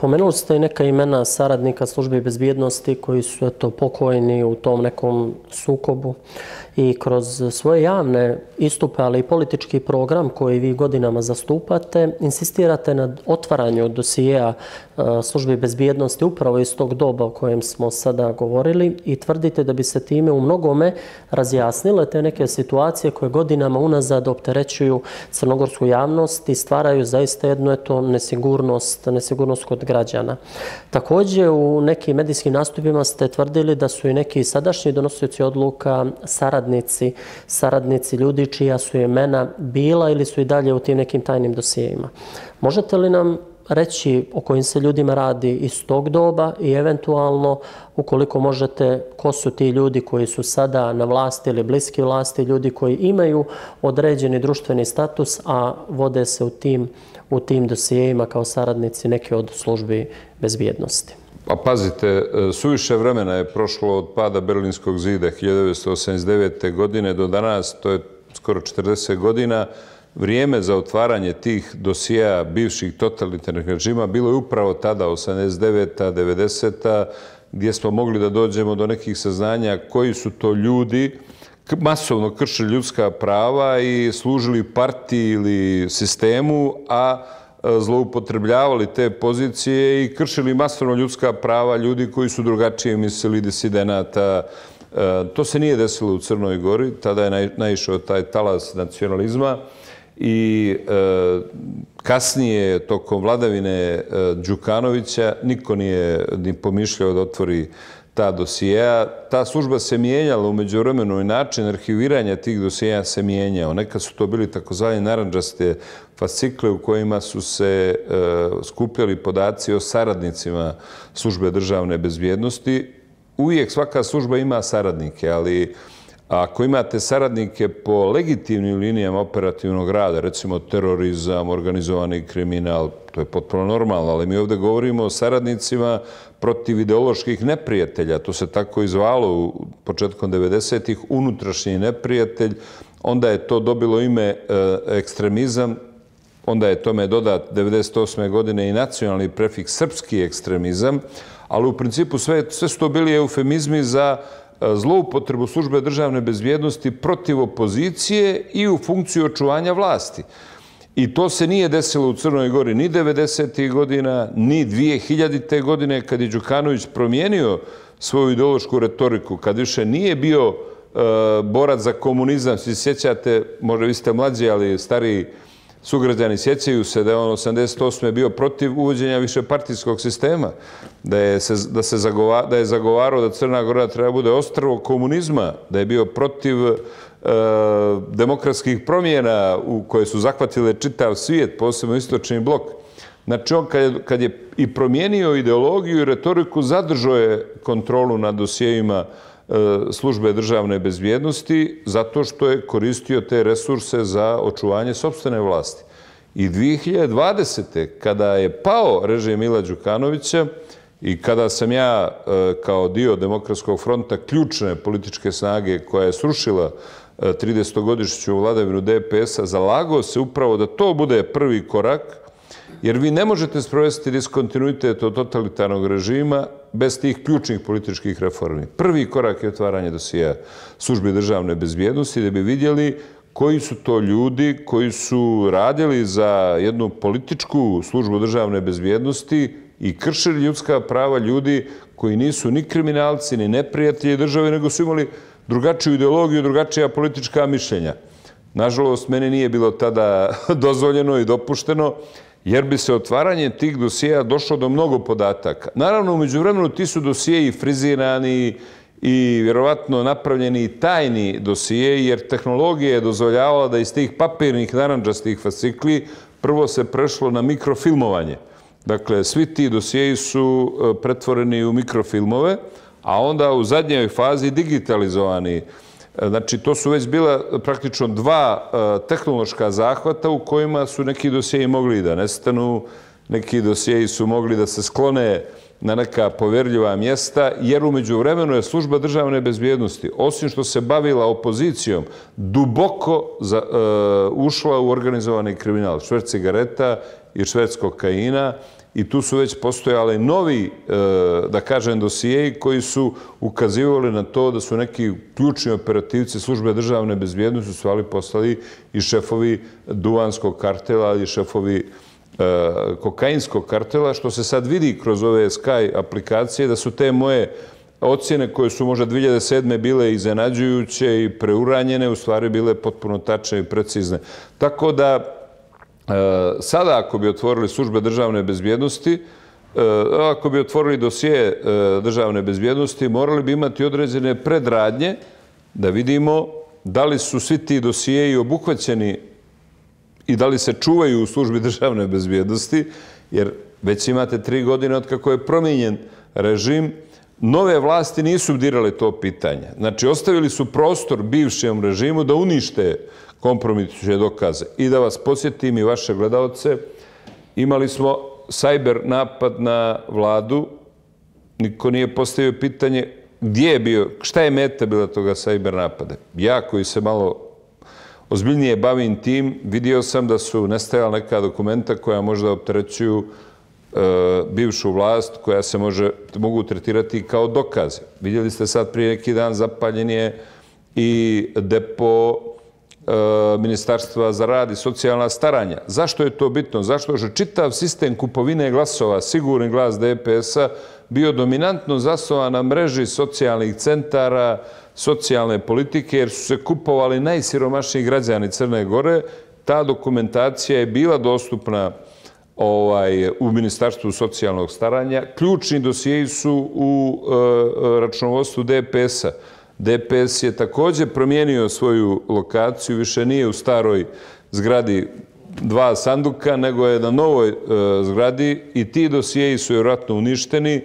Pomenuli ste i neka imena saradnika službe bezbjednosti koji su pokojni u tom nekom sukobu i kroz svoje javne istupe, ali i politički program koji vi godinama zastupate, insistirate na otvaranju dosijeja službe bezbjednosti upravo iz tog doba o kojem smo sada govorili i tvrdite da bi se time u mnogome razjasnile te neke situacije koje godinama unazad opterećuju crnogorsku javnost i stvaraju zaista jednu nesigurnost kod građana. Također u nekim medijskim nastupima ste tvrdili da su i neki sadašnji donosioci odluka saradnici ljudi čija su imena bila ili su i dalje u tim nekim tajnim dosijejima. Možete li nam reći o kojim se ljudima radi iz tog doba i eventualno, ukoliko možete, ko su ti ljudi koji su sada na vlasti ili bliski vlasti, ljudi koji imaju određeni društveni status, a vode se u tim dosijejima kao saradnici neke od službi bezbjednosti? Pa pazite, suviše vremena je prošlo od pada Berlinskog zida 1989. godine do danas, to je skoro 40 godina. Vrijeme za otvaranje tih dosijeja bivših totalitarnih režima bilo je upravo tada, 89. 90. gdje smo mogli da dođemo do nekih saznanja koji su to ljudi masovno kršili ljudska prava i služili partiji ili sistemu, a zloupotrebljavali te pozicije i kršili masovno ljudska prava ljudi koji su drugačije mislili, disidenata. To se nije desilo u Crnoj Gori, tada je naišao taj talas nacionalizma i kasnije, tokom vladavine Đukanovića, niko nije ni pomišljao da otvori ta dosijeja. Ta služba se mijenjala u međuvremenu i način arhiviranja tih dosijeja se mijenjao. Nekad su to bili takozvani narandžaste fascikle u kojima su se skupljali podaci o saradnicima službe državne bezbjednosti. Uvijek svaka služba ima saradnike, ali ako imate saradnike po legitimnim linijama operativnog rada, recimo terorizam, organizovani kriminal, to je potpuno normalno, ali mi ovdje govorimo o saradnicima protiv ideoloških neprijatelja. To se tako i zvalo u početkom 90-ih, unutrašnji neprijatelj. Onda je to dobilo ime ekstremizam, onda je tome dodat 98. godine i nacionalni prefiks srpski ekstremizam, ali u principu sve su to bili eufemizmi za zloupotrebu službe državne bezbjednosti protiv opozicije i u funkciju očuvanja vlasti. I to se nije desilo u Crnoj Gori ni 90. godina, ni 2000. godine, kad je Đukanović promijenio svoju ideološku retoriku, kad više nije bio borac za komunizam. Svi sjećate, možda vi ste mlađi, ali stariji sugrađani sjećaju se da je on 88. bio protiv uvođenja višepartijskog sistema, da je zagovarao da Crna Gora treba bude ostrvo komunizma, da je bio protiv demokratskih promjena u koje su zahvatile čitav svijet, posebno istočni blok. Znači on kad je i promijenio ideologiju i retoriku, zadržao je kontrolu nad dosijejima službe državne bezbjednosti zato što je koristio te resurse za očuvanje sopstvene vlasti. I 2020. kada je pao režim Mila Đukanovića i kada sam ja kao dio Demokratskog fronta, ključne političke snage koja je srušila 30-godišnju vladavinu DPS-a, zalagao se upravo da to bude prvi korak, jer vi ne možete sprovesti diskontinuitet od totalitarnog režima bez tih ključnih političkih reformi. Prvi korak je otvaranje dosijeja službi državne bezbjednosti da bi vidjeli koji su to ljudi koji su radili za jednu političku službu državne bezbjednosti i kršili ljudska prava ljudi koji nisu ni kriminalci, ni neprijatelji države, nego su imali drugačiju ideologiju, drugačija politička mišljenja. Nažalost, meni nije bilo tada dozvoljeno i dopušteno, jer bi se otvaranjem tih dosijeja došlo do mnogo podataka. Naravno, u međuvremenu ti su dosijeji frizirani i vjerovatno napravljeni tajni dosijeji, jer tehnologija je dozvoljavala da iz tih papirnih narandžastih fascikli prvo se prešlo na mikrofilmovanje. Dakle, svi ti dosijeji su pretvoreni u mikrofilmove, a onda u zadnjoj fazi digitalizovani. Znači, to su već bila praktično dva tehnološka zahvata u kojima su neki dosijeji mogli da nestanu, neki dosijeji su mogli da se sklone na neka povjerljiva mjesta, jer u međuvremenu je služba državne bezbjednosti, osim što se bavila opozicijom, duboko ušla u organizovani kriminal, šverc cigareta i šverc kokaina, i tu su već postojali novi, da kažem, dosijeji koji su ukazivali na to da su neki ključni operativci službe državne bezbjednosti u stvari postali i šefovi duvanskog kartela i šefovi kokainskog kartela, što se sad vidi kroz ove Sky aplikacije, da su te moje ocjene koje su možda 2007. bile iznenađujuće i preuranjene, u stvari bile potpuno tačne i precizne. Tako da sada ako bi otvorili službe državne bezbjednosti, ako bi otvorili dosije državne bezbjednosti, morali bi imati određene predradnje da vidimo da li su svi ti dosijeji obuhvaćeni i da li se čuvaju u službi državne bezbjednosti, jer već imate 3 godine od kako je promijenjen režim, nove vlasti nisu dirale to pitanje. Znači, ostavili su prostor bivšem režimu da unište kompromitujuće dokaze. I da vas podsjetim i vaše gledalce, imali smo sajber napad na vladu, niko nije postavio pitanje gdje je bio, šta je meta bila toga sajber napada. Ja koji se malo ozbiljnije bavim tim, vidio sam da su nestajala neka dokumenta koja možda opterećuju bivšu vlast, koja se mogu tretirati kao dokaze. Vidjeli ste sad prije neki dan zapaljen je i depo Ministarstva za rad i socijalna staranja. Zašto je to bitno? Zašto je čitav sistem kupovine glasova, sigurni glas DPS-a, bio dominantno zasnovan na mreži socijalnih centara, socijalne politike, jer su se kupovali najsiromašniji građani Crne Gore. Ta dokumentacija je bila dostupna u Ministarstvu socijalnog staranja. Ključni dosijeji su u računovodstvu DPS-a. DPS je također promijenio svoju lokaciju, više nije u staroj zgradi 2 sanduka, nego je na novoj zgradi i ti dosijeji su vjerojatno uništeni.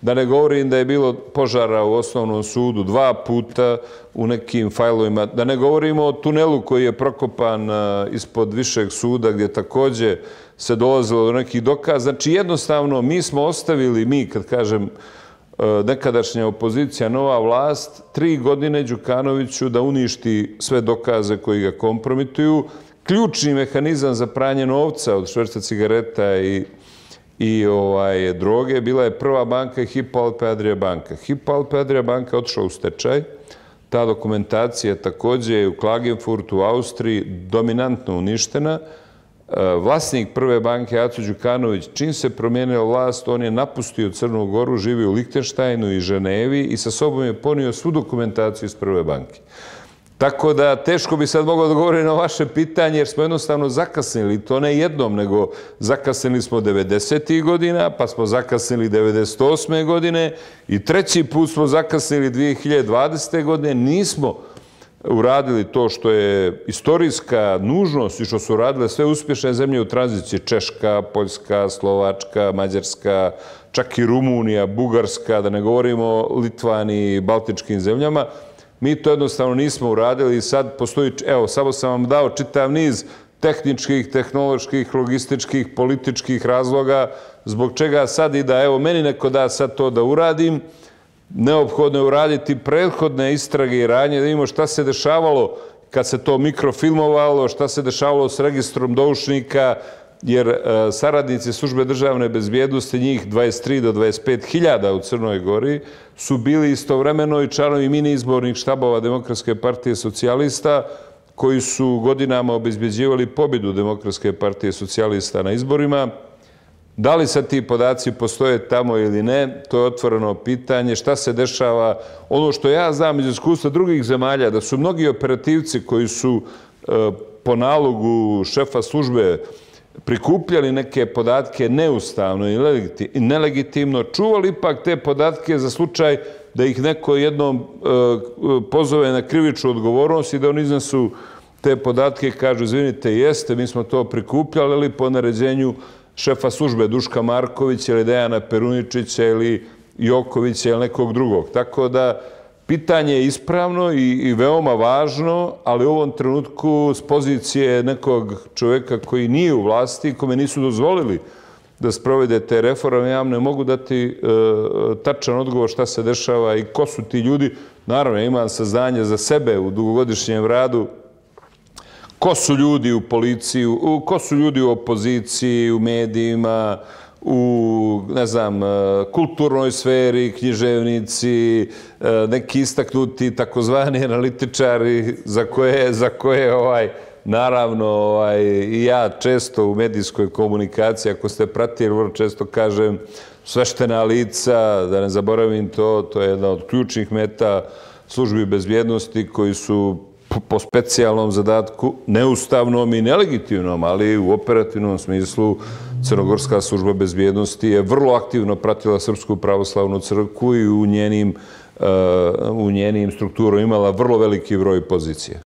Da ne govorim da je bilo požara u osnovnom sudu 2 puta u nekim fajlovima. Da ne govorimo o tunelu koji je prokopan ispod višeg suda gdje također se dolazilo do nekih dokaza. Znači jednostavno mi smo ostavili, kad kažem nekadašnja opozicija, nova vlast, 3 godine Đukanoviću da uništi sve dokaze koji ga kompromituju. Ključni mehanizam za pranje novca od šverca cigareta i droge bila je Prva banka i Hypo Alpe Adria banka. Hypo Alpe Adria banka je otišla u stečaj. Ta dokumentacija također je u Klagenfurtu u Austriji dominantno uništena. Vlasnik Prve banke, Aco Đukanović, čim se promijenila vlast, on je napustio Crnu Goru, živio u Lihtenštajnu i Ženevi i sa sobom je ponio svu dokumentaciju iz Prve banke. Tako da teško bi sad mogao odgovoriti na vaše pitanje, jer smo jednostavno zakasnili, to ne jednom, nego zakasnili smo 90. godina, pa smo zakasnili 98. godine i 3. put smo zakasnili 2020. godine. Nismo uradili to što je istorijska nužnost i što su uradile sve uspješne zemlje u tranziciji. Češka, Poljska, Slovačka, Mađarska, čak i Rumunija, Bugarska, da ne govorimo o Litvaniji i Baltičkim zemljama. Mi to jednostavno nismo uradili i sad postoji, evo, samo sam vam dao čitav niz tehničkih, tehnoloških, logističkih, političkih razloga zbog čega sad i da, evo, meni neko da sad to da uradim, neophodno je uraditi prethodne istrage i radnje, da vidimo šta se dešavalo kad se to mikrofilmovalo, šta se dešavalo s registrom doušnika, jer saradnici službe državne bezbjednosti, njih 23 do 25 hiljada u Crnoj Gori, su bili istovremeno i članovi mini izbornih štabova Demokratske partije socijalista, koji su godinama obezbeđivali pobjedu Demokratske partije socijalista na izborima. Da li sad ti podaci postoje tamo ili ne, to je otvoreno pitanje. Šta se dešava? Ono što ja znam iz iskustva drugih zemalja, da su mnogi operativci koji su po nalogu šefa službe prikupljali neke podatke neustavno i nelegitimno, čuvali ipak te podatke za slučaj da ih neko jednom pozove na krivičnu odgovornost i da oni iznesu te podatke i kažu, izvinite, jeste, mi smo to prikupljali, ali po naređenju šefa službe Duška Markovića ili Dejana Peruničića ili Jokovića ili nekog drugog. Tako da pitanje je ispravno i veoma važno, ali u ovom trenutku s pozicije nekog čovjeka koji nije u vlasti, kome nisu dozvolili da sprovede te reforme, ja vam ne mogu dati tačan odgovor šta se dešava i ko su ti ljudi. Naravno, imam saznanje za sebe u dugogodišnjem radu, ko su ljudi u policiji, ko su ljudi u opoziciji, u medijima, u, ne znam, kulturnoj sferi, književnici, neki istaknuti takozvani analitičari za koje naravno i ja često u medijskoj komunikaciji, ako ste pratili, vrlo često kažem sveštena lica, da ne zaboravim to je jedna od ključnih meta službi bezbjednosti koji su po specijalnom zadatku, neustavnom i nelegitimnom, ali u operativnom smislu Crnogorska služba bezbjednosti je vrlo aktivno pratila Srpsku pravoslavnu crkvu i u njenim strukturama imala vrlo veliki broj pozicija.